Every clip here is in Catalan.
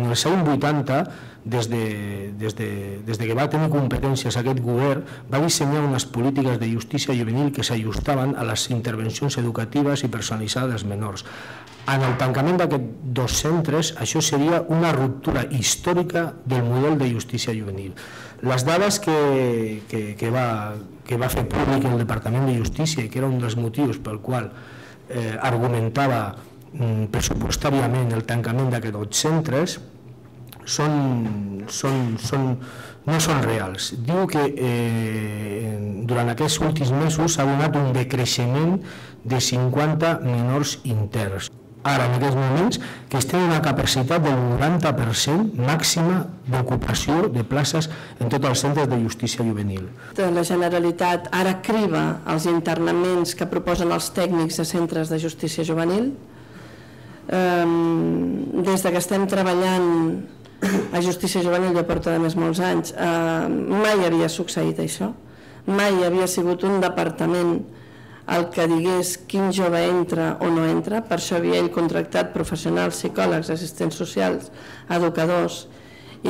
En els anys 80, des que va tenir competències aquest govern, va dissenyar unes polítiques de justícia juvenil que s'ajustaven a les intervencions educatives i personalitzades dels menors. En el tancament d'aquests dos centres, això seria una ruptura històrica del model de justícia juvenil. Les dades que va fer públic el Departament de Justícia, i que era un dels motius pel qual argumentava pressupostàriament el tancament d'aquests dos centres, no són reals. Diu que durant aquests últims mesos s'ha donat un decreixement de 50 menors interns. Ara, en aquests moments, que es té una capacitat del 90% màxima d'ocupació de places en tots els centres de justícia juvenil. La Generalitat ara criba els internaments que proposen els tècnics de centres de justícia juvenil. Des que estem treballant a justícia juvenil, ja porta de més molts anys, mai havia succeït això. Mai havia sigut un departament el que digués quin jove entra o no entra. Per això havia ell contractat professionals, psicòlegs, assistents socials, educadors i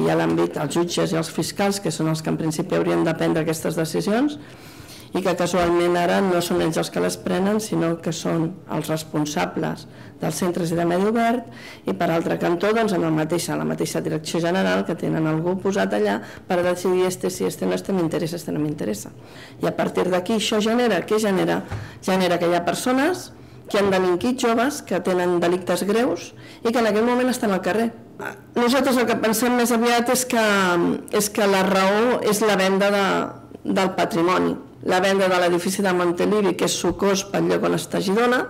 a l'àmbit els jutges i els fiscals, que són els que en principi haurien de prendre aquestes decisions, i que casualment ara no són ells els que les prenen, sinó que són els responsables dels centres i de medi obert, i per altre cantó en la mateixa direcció general, que tenen algú posat allà per decidir si no m'interessa. I a partir d'aquí això genera que hi ha persones que han delinquit, joves que tenen delictes greus i que en aquell moment estan al carrer. Nosaltres el que pensem més aviat és que la raó és la venda del patrimoni, la venda de l'edifici de Montelivi, que és sucós pel lloc on està Girona,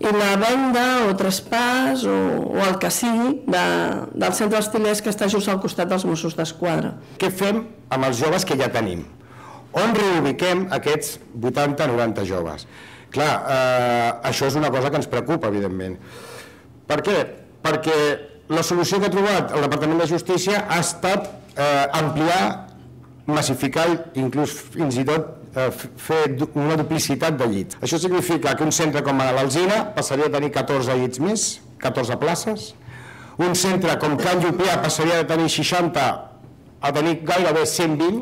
i la venda o traspàs o el que sigui del centre d'Estilers, que està just al costat dels Mossos d'Esquadra. Què fem amb els joves que ja tenim? On reubiquem aquests 80-90 joves? Clar, això és una cosa que ens preocupa, evidentment. Per què? Perquè la solució que ha trobat el Departament de Justícia ha estat ampliar, massificar i inclús fins i tot fer una duplicitat de llits. Això significa que un centre com l'Alzina passaria a tenir 14 llits més, 14 places. Un centre com Can Llupià passaria de tenir 60 a tenir gairebé 120.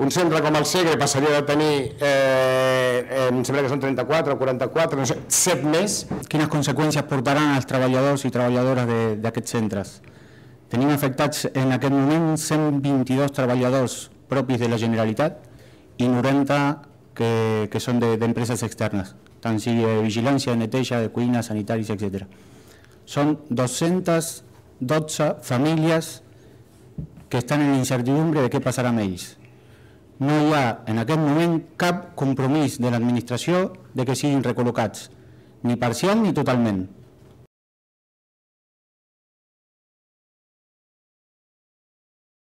Un centre com el Segre passaria de tenir, em sembla que són 34 o 44, no sé, 7 més. Quines conseqüències portaran als treballadors i treballadores d'aquests centres? Tenim afectats en aquest moment 122 treballadors propis de la Generalitat i 90 que són d'empreses externes, tant sigui de vigilància, de neteja, de cuina, sanitaris, etc. Són 212 famílies que estan en incertidumbre de què passarà amb ells. No hi ha en aquest moment cap compromís de l'administració de que siguin recol·locats, ni parcial ni totalment.